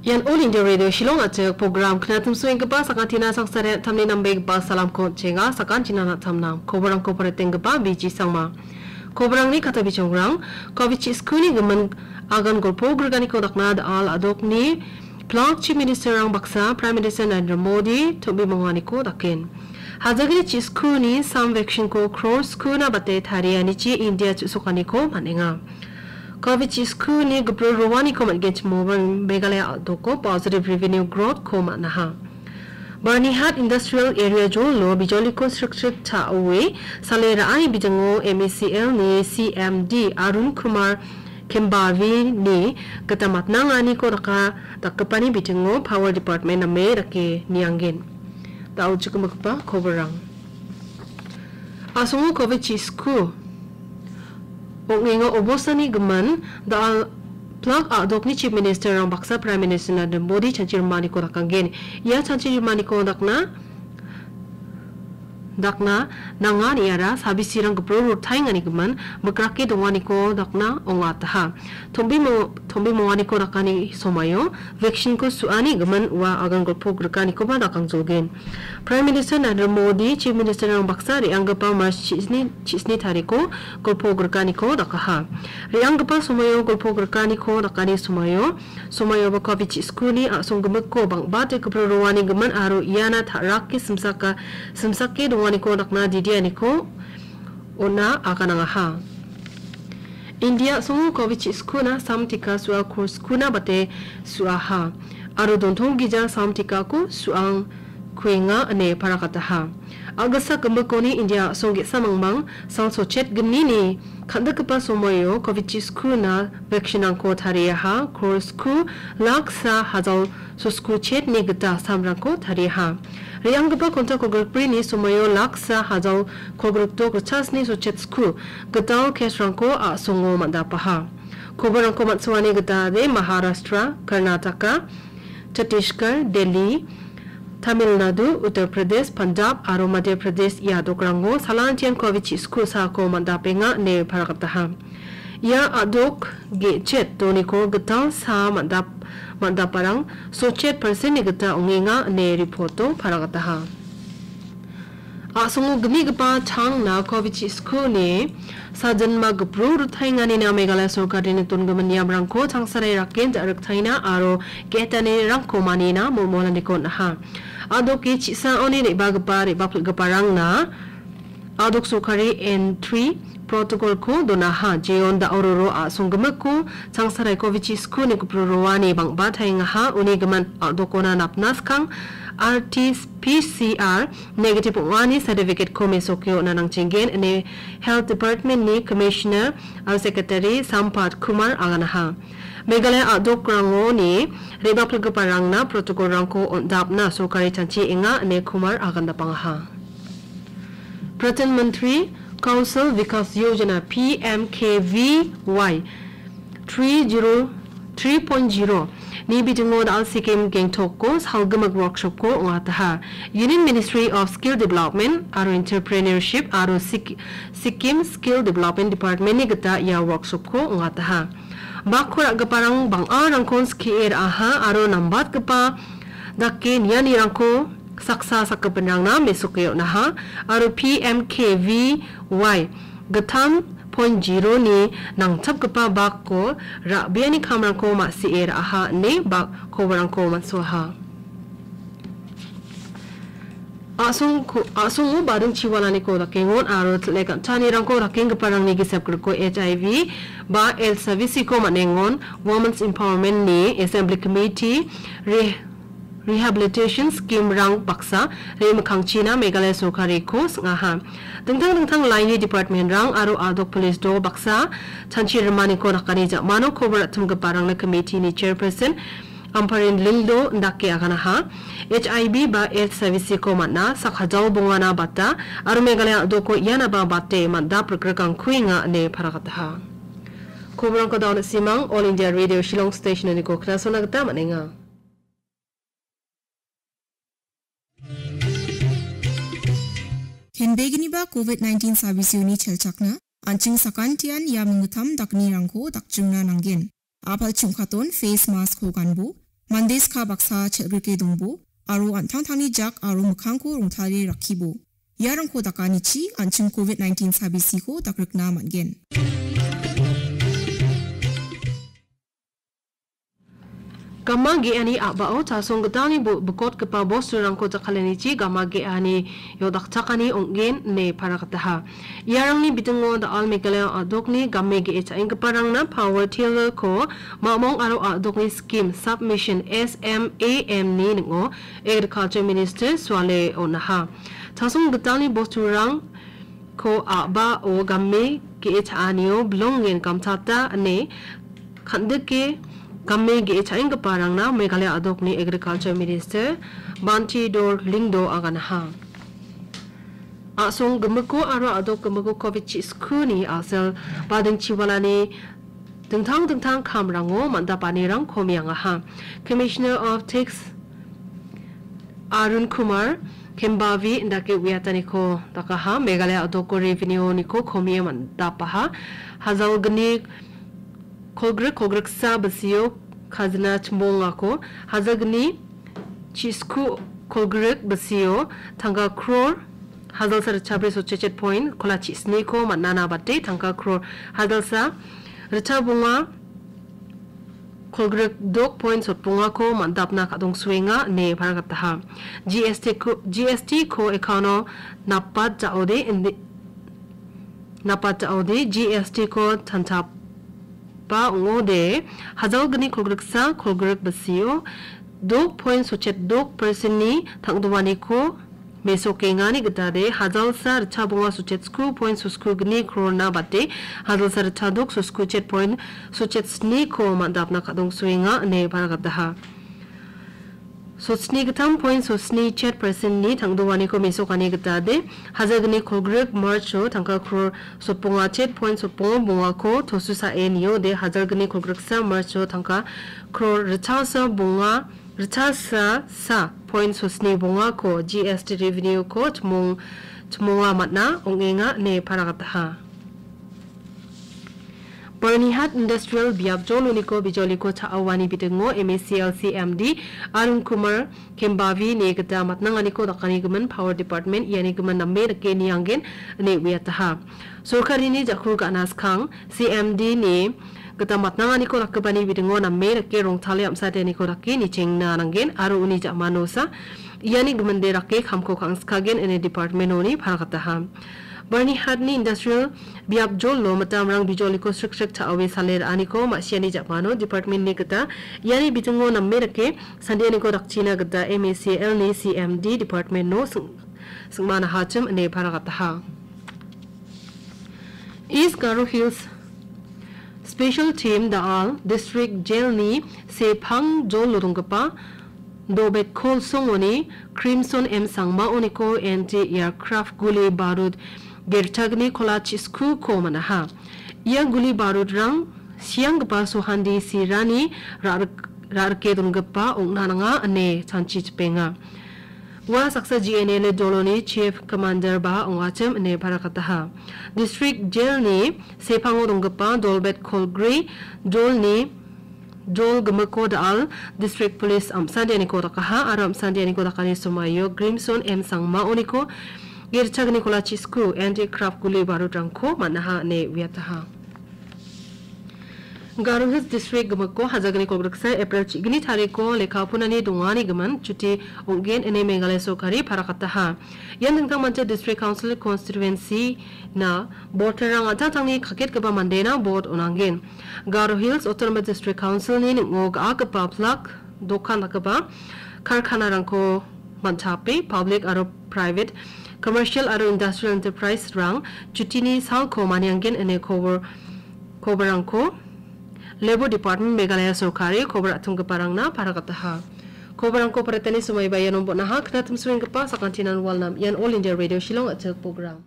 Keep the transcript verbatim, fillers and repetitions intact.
Ian All India Radio Shillong a·chik program knatimsoenggipa sakantina sangsare tamni nambegipa salamko on·chenga, sakantina na·tamna. Koborangko paritenggipa B G Sangma. Koborangni kata bijongrang, covid chi skuni gimin agan golpo grikaniko dakna da·al a·dokni plak Chief Ministerrang baksa Prime Minister Narendra Modi tom·bimonganiko daken. Hajagni chi skuni sam vaccine-ko crore skuna bate tarianichi India chu·sokaniko man·enga. Covid chi skuni gipro roaniko man·genchimoba Meghalaya a·doko positive revenue growth-ko man·aha. Byrnihat Industrial Area jolo bijoliko srikchik cha·oe sale ra·ani bijango M E C L ni C M D Arun Kumar Kembavi ni gita matnanganiko daka dakgipani bitingo Power Department name dake niangen. Da·o chikimigipa koborang. A·songo covid chi sku ong·enga obostani gimin da·al plak a·dokni Chief Ministerrang baksa Prime Minister Narendra Modi chanchi rimaniko dakanggen. Ia chanchi rimaniko dakna, dakna nanga niara sabisirang gipro rutaengani gimin mikrake donganiko dakna ong·ataha. Tombimo-, tombimonganiko dakani somaio vaccine-ko su·ani gimin ua agan golpo grikanikoba dakangjolgen. Prime Minister Narendra Modi, Chief Ministerrang baksa re·anggipa March chisni, chisni tariko golpo grikaniko dakaha. Re·anggipa somoio golpo grikaniko dakani somoio, somoioba covid chi skuni a·songgimikko bang·bate gipro roani gimin aro iana ta·rake simsaka, simsake donganiko dakna didianiko on·a aganangaha. India a·songo covid chi skuna sam tika su·a crore skuna bate su·aha. Aro dontong gija sam tikako su·ang kuenga ine parakataha. A·gisa gimikoni India a·song ge·sa mangmang sang sochet gnini kan·dikgipa somoio covid chi skuna vaccine-rangko tariaha, crore sku lak sa hajal sosku chetni gita samrangko tariaha. Re·anggipa konta kolgrikbrini somoio lak sa hajal kolgrikdok ritchasni sochet sku gital case-rangko a·songo man·dapaha. Koborangko man·soani gita ade Maharashtra, Karnataka, Chhattisgarh, Delhi, Tamil Nadu, Uttar Pradesh, Punjab aro Madhya Pradesh ia dokrango salantian covid chi sku sako man·dapenga ine parakataha. Ia a·dok ge·chet doniko gital sa man·dap-, man·daparang sochet percent-ni gita ong·enga ine report-o parakataha. A·songo gimigipa tangna covid chi skuni sajinma gipro rutaenganina Meghalaya sorkarini dongimin niamrangko changsarai raken ja·riktaina aro ge·etanirangko manina molmolaniko on·aha. A·doke chisaoni re·bagipa, re·bapilgiparangna a·dok sorkari entry protocol-ko donaha. Jeon da·ororo a·songgimikko changsarai covid chi skuni gipro roani bang·ba taengaha. Uni gimin a·dokona napna skang R T P C R negative ong·ani certificate-ko mesoke on·a nangchenggen ine Health Department-ni Commissioner aro Secretary Sampath Kumar aganaha. Meghalaya a·dokrangoni re·bapilgiparangna protocol-rangko on·dapna sorkari chanchi enga ine Kumar agandapangaha. Pradhan Mantri Kaushal Vikas Yojana, P M K V Y, three zero, three point zero ni bitingo da·al Sikkim Gangtok-o salgimik workshop-ko ong·ataha. Union Ministry of Skill Development aro Entrepreneurship aro Sik-, Sikkim Skill Development Department-ni gita ia workshop-ko ong·ataha. Bakko ra·giparang bang·arangkon skie ra·aha aro nambatgipa dake nianirangko saksa sakgipinrangna mesoke on·aha aro P M K V Y gittam point zero-ni nangchapgipa bakko ra·biani kamrangko ma·sie ra·aha ine bak koborangko man·soaha. A·songko-, a·songo bading chiwalaniko dakengon aro til·e gan·tanirangko rakenggiparangni gisep griko H I V ba AIDS savisi-ko man·engon. Women's Empowerment-ni Assembly Committee re-, Rehabilitation Scheme-rang baksa re·mikkangchina Meghalaya sorkariko sing·aha. Dingtang dingtang laini department-rang aro a·dok police dol baksa chanchi rimaniko dakani ja·mano kobor ra·chimgiparangna committee-ni chairperson Amparin Lyngdoh indake aganaha. H I V ba AIDS savisi-ko man·a, sak hajal bongana bata, aro Meghalaya a·doko ianaba bate man·dap rikrikangkuenga ine parakataha. Koborangko da·o na·simang All India Radio Shillong Station-oniko knasona gita man·enga. Kenbegniba covid nineteen sabisioni chelchakna, an·ching sakantian ia minggittam daknirangko dakchimna nanggen. A·pal chungkaton face mask-ko ganbo, Mande ska baksa chel·grike dongbo, aro an·tangtangni jak aro mikkangko rongtale rakkibo. Iarangko dakanichi an·ching covid nineteen sabisiko dakrikna man·gen. Gama ge·ani a·bao tasong gitalni bo-, bikotgipa bosturangko jakkalanichi gama ge·ani iodakchakani ong·gen ine paragataha. Iarangni bidingo da·al Meghalaya a·dokni game ge·e cha·enggiparangna power tiller-ko mamong aro a·dokni skim submission S M A M-ni ning·o Agriculture Minister Suale on·aha. Tasong gitalni bosturangko a·bao game ge·e cha·anio bilongen gamchata ine kan·dike game ge·e cha·enggiparangna Meghalaya a·dokni Agriculture Minister Banteidor Lyngdoh aganaha. A·song gimiko aro a·dok gimiko covid chi-, skuni a·sel bading chiwalani dingtang dingtang kamrango man·dapanirang komiangaha. Commissioner of Tax Arun Kumar Kembavi indake uiataniko dakaha. Meghalaya a·doko revenue-niko komie man·dapaha. Hajalgni kolgrik kolgriksa bisio kajina chimbongako, hajalgni chisku kolgrik bisio tangka kror hajalsa ritchabri sotchechet point kola chisniko man·ana bate tangka kror hajalsa ritchabonga kolgrik dok point sotbongako man·dapna ka·dongsoenga ine paragataha. G S T ko, G S T ko account-o napat ja·ode indi-, napat ja·ode G S T ko tantapa ong·ode hajalgni kolgriksa kolgrik bisio dok point sotchet dok percent-ni tangdoaniko mesokengani gitade hajalsa ritchabonga sotchet sku point sosku gni krorna bate hajalsa ritchadok sosku chet point sotchet sniko man·dapna ka·dongsoenga ine paragataha. Sotni gittam point sotni chet percent-ni tangdoaniko mesokani gitade, hajalgni kolgrik March-o tangka kror sotbonga chet point sotbonga bongako tosusae niode, hajalgni kolgriksa March-o tangka kror ritchasa bonga, ritchasa sa point sotni bongako G S T revenue-ko chimong-, chimonga man·a ong·enga ine paragataha. Byrnihat Industrial biap joloniko bijoliko cha·awani bidingo M A C L C M D Arun Kumar Kembavi-ni gita matnanganiko dakanigimin Power Department ianigimin name dake nianggen ine uiataha. Sorkarini ja·ku ga·na skang C M D-ni gita matnanganiko dakgipani bidingo name dake rongtale am·sateniko dake nichengna nanggen aro uni ja·manosa iani giminde dake kamko kangskagen ine department-oni paragataha. Byrnihatni industrial biap jolo mitamrang bijoliko sriksrik cha·oe sale ra·aniko ma·siani ja·mano department-ni gita iani bitingo name dake sandianiko dakchina gita M A C L-ni C M D department-o sing-, singmana hachim ine paragataha. East Garo Hills Special Team da·al District Jail-ni sepang jolo donggipa Dobet Kol songoni Crimson M Sangmaoniko anti-aircraft guli barud gerchagni kola chiskuko man·aha. Ia guli barudrang sianggipa sohandi sirani ra-, ra·rike donggipa ong·na nanga ine chanchi chipenga. Ua saksa G N L A doloni Chief Commander ba ong·achim ine parakataha. District Jail-ni sepango donggipa Dolbet Kolgri jolni jol gimikko da·al District Police am·sandianiko dakaha aro am·sandianiko dakani somaio Crimson M Sangmaoniko gerchagni kola chisku anti-aircraft guli barudrangko man·aha ine uiataha. Garo Hills District gimikko hajalgni kolgriksa April chigni tariko lekka punani donganigimin chuti ong·gen ine Meghalaya sorkari parakataha. Ian dingtang mancha District Council Constituency-na voter-rang an·tangtangni kaketgipa mandena vote on·angen. Garo Hills Autonomous District Council-ni ning·o ga·akipa plak dokan dakgipa karkanarangko man·chape public aro private, commercial aro industrial enterprise-rang chutini salko manianggen ine kobor-, koborrangko Labour Department Meghalaya sorkari kobor atonggiparangna parakataha. Koborrangko paratani somaiba ianon bon·aha, knatimsoenggipa sakantinan walnam. Ian All India Radio Shillong a·chik program.